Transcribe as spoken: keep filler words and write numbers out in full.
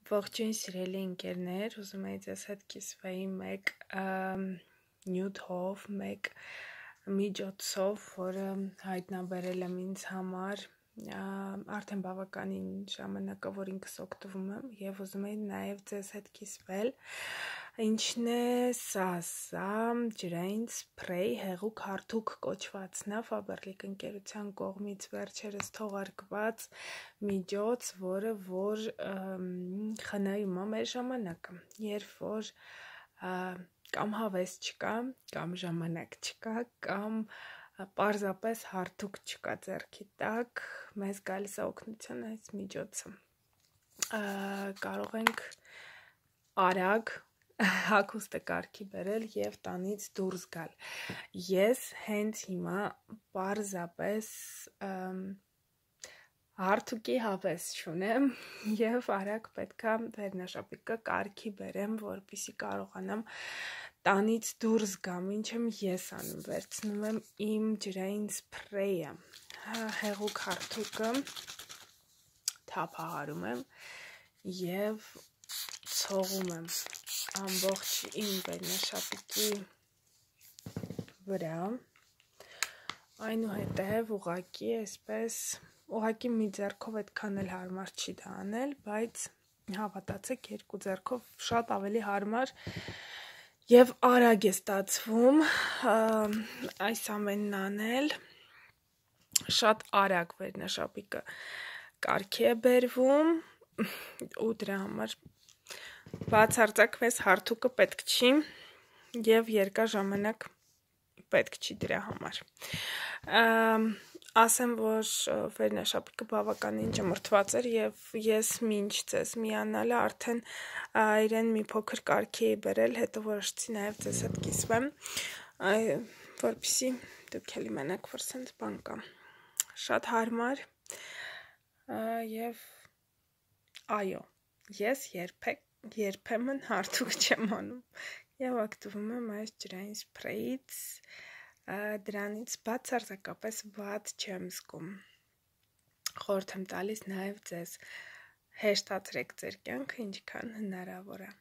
Ողջույն սիրելի ընկերներ, ուզում եի ձեզ հետ կիսվեի մեկ նյութով, մեկ միջոցով, որը հայտնաբերել եմ ինձ համար արդեն բավականին ժամանակը, որ ինքս օգտվում եմ եւ ուզում եի նաեւ ձեզ հետ կիսվել։ Ինչն է սա, սա ջրային սփրեյ, հեղուկ հարթուկ կոչվածն է, Faberlic ընկերության կողմից վերջերս թողարկված միջոց, որը որ խնայում է մեր ժամանակը, երբ որ կամ հավես չկա, կամ ժամանակ չկա, կամ պարզապես հարթուկ չկա ձեռքի տակ, մեզ գալիս է օգնության այս միջոցը։ Կարող ենք արագ հագուստը կարգի բերել եւ տանից դուրս գալ։ Ես հենց հիմա պարզապես հարթուկի հավես չունեմ եւ արագ պետքա վերնաշապիկը կարգի բերեմ, որպեսզի կարողանամ տանից դուրս գամ։ Ինչ եմ ես անում, վերցնում եմ իմ ջրային սփրեյը, հեղուկ հարթուկը թափահարում եմ եւ ցողում եմ ամբողջ իմ վերնաշապիկի վրա, այնուհետև ուղակի այսպես, ուղակի մի ձեռքով այդքան էլ հարմար չի դա անել, բայց հավատացեք, երկու ձեռքով շատ ավելի հարմար եւ արագ է ստացվում այս ամենն անել, շատ արագ վերնաշապիկը կարգի է բերվում ու դրա համար բացարձակ մեզ հարթուկը պետք չի եւ երկար ժամանակ պետք չի դրա համար։ Ասեմ, որ վերնաշապիկը բավականին ճմրթված էր եւ ես մինչ ձեզ միանալը արդեն իրեն մի փոքր կարգի էի բերել, հետո որոշեցի նաեւ ձեզ հետ կիսվեմ, որպեսզի դուք էլ իմանաք, որ սենց բան կա։ Շատ հարմար եւ այո, ես երբեք երբեմն հարթուկ չեմ անում եւ օգտվում եմ այս ջրային սփրեյից, դրանից բացարձակապես վատ չեմ զգում։ Խորհուրդ եմ տալիս նաեւ ձեզ հեշտացրեք ձեր կյանքը ինչքան հնարավոր է։